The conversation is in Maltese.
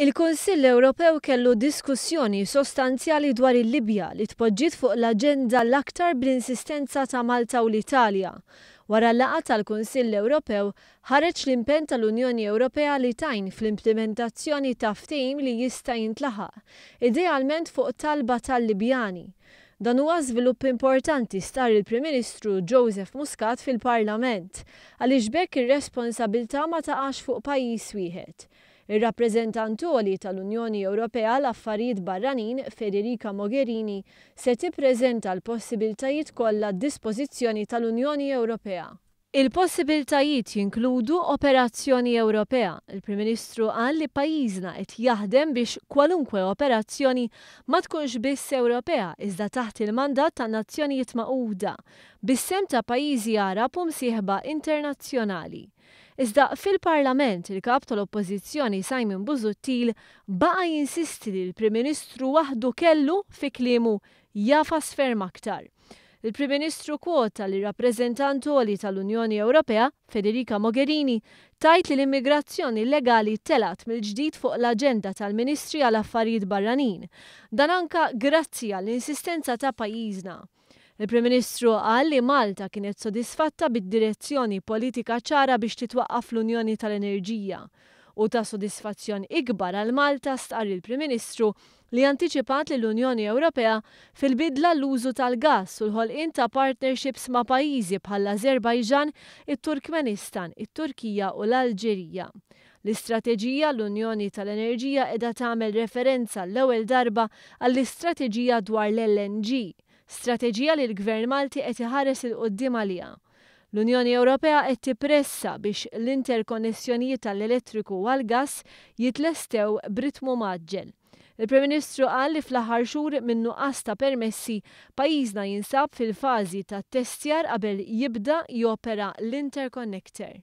Il-Kunsill Ewropew kellu diskussjoni sostanzjali dwar il-Libja li tpoġġiet fuq l-aġenda l-aktar bl-insistenza ta' Malta u l-Italja. Wara l-laqgħa tal-Kunsill Ewropew ħareġ l-impenn tal-Unjoni Ewropea li tgħin fl-implimentazzjoni ta' ftehim li jista' jintlaħaq, idealment fuq talba tal-Libjani. Dan huwa żvilupp importanti stqarr il-Prim Ministru Joseph Muscat fil-Parlament, għaliex b'hekk ir-responsabilità ma taqax fuq pajjiż wieħed. Ir-Rappreżentant Għoli tal-Unjoni Ewropea għal Affarijiet Barranin, Federica Mogherini, se tippreżenta l-possibiltajiet kollha għad-dispożizzjoni tal-Unjoni Ewropea. Il-possibiltajiet jinkludu operazzjoni Ewropea. Il-Prim Ministru qal li pajjiżna qed jaħdem biex kwalunkwe operazzjoni ma tkunx biss Ewropea iżda taħt il-mandat tan-Nazzjonijiet Magħquda, bis-sehem ta' pajjiżi Għarab u msieħba internazzjonali. Iżda fil-Parlament, il-Kap tal-Oppożizzjoni Simon Busuttil baqa' jinsisti li l-Prim Ministru waħdu kellu, fi kliemu, jagħfas ferm aktar. Il-Prim Ministru kwota lir-Rappreżentant Għoli tal-Unjoni Ewropea, Federica Mogherini, tgħid li l-immigrazzjoni illegali telgħet mill-ġdid fuq l-aġenda tal-Ministri għal Affarijiet Barranin. Dan anka grazzi għall-insistenza ta' pajjiżna. Il-Prim Ministru qal li Malta kienet sodisfatta bid-direzzjoni politika ċara biex titwaqqaf l-Unjoni tal-Enerġija. Hu ta' sodisfazzjon ikbar għal Malta, stqarr il-Prim Ministru, li antiċipat lill-Unjoni Ewropea fil-bidla l-użu tal-gass u l-ħolqien ta' partnerships ma' pajjiżi bħall-Ażerbajġan, it-Turkmenistan, it-Turkija u l-Alġerija. L-istrateġija għall-Unjoni tal-Enerġija qiegħda tagħmel referenza għall-ewwel darba għall-istrateġija dwar l-LNG, strateġija li l-Gvern Malti qed iħares 'il quddiem għaliha. L-Unjoni Ewropea qed tippressa biex l-interkonnessjonijiet għall-elettriku u għall-gass jitlestew b'ritmu mgħaġġel. Il-Prim Ministru qal li fl-aħħar xhur min-nuqqas ta' permessi, pajjiżna jinsab fil-fażi ta' ttestjar qabel jibda jopera l-interconnector.